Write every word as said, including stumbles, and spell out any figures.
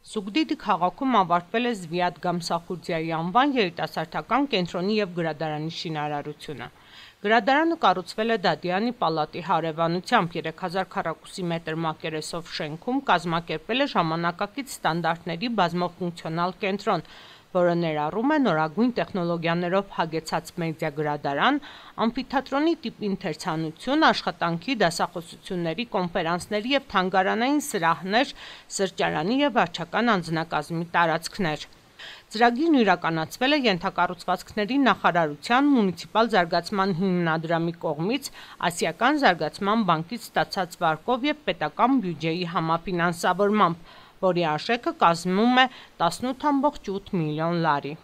Սուգդիդի քաղաքում ավարտվել է Զվիադ Գամսախուրդիայի անվան երիտասարդական կենտրոնի և գրադարանի շինարարությունը։ Գրադարանը կառուցվել է Դադյանի պալատի հարևանությամբ երեք հազար քառակուսի մետր մակերեսով շենքում կազմակերպել է ժամանակակից ստանդարտների բազմաֆունկցիոնալ կենտրոն, որը ներառում է նորագույն տեխնոլոգիաներով հագեցած մեդիա գրադարան, ամֆիթատրոնի տիպ ընթերցանություն, աշխատանքի, դասախոսությունների, կոնֆերանսների և թանգարանային սրահներ, սրճարանի և վարչական անձնակազմի տարածքներ։ Ծրագիրն իրականացվել է ենթակառուցվածքների նախարարության մունիցիպալ զարգացման հիմնադրամի կողմից Ասիական զարգացման բանկից ստացած վարկով և պետական բյուջեի համաֆինանսավորմամբ, որի արժեքը կազմում է տասնութ ամբողջ ութ միլիոն լարի։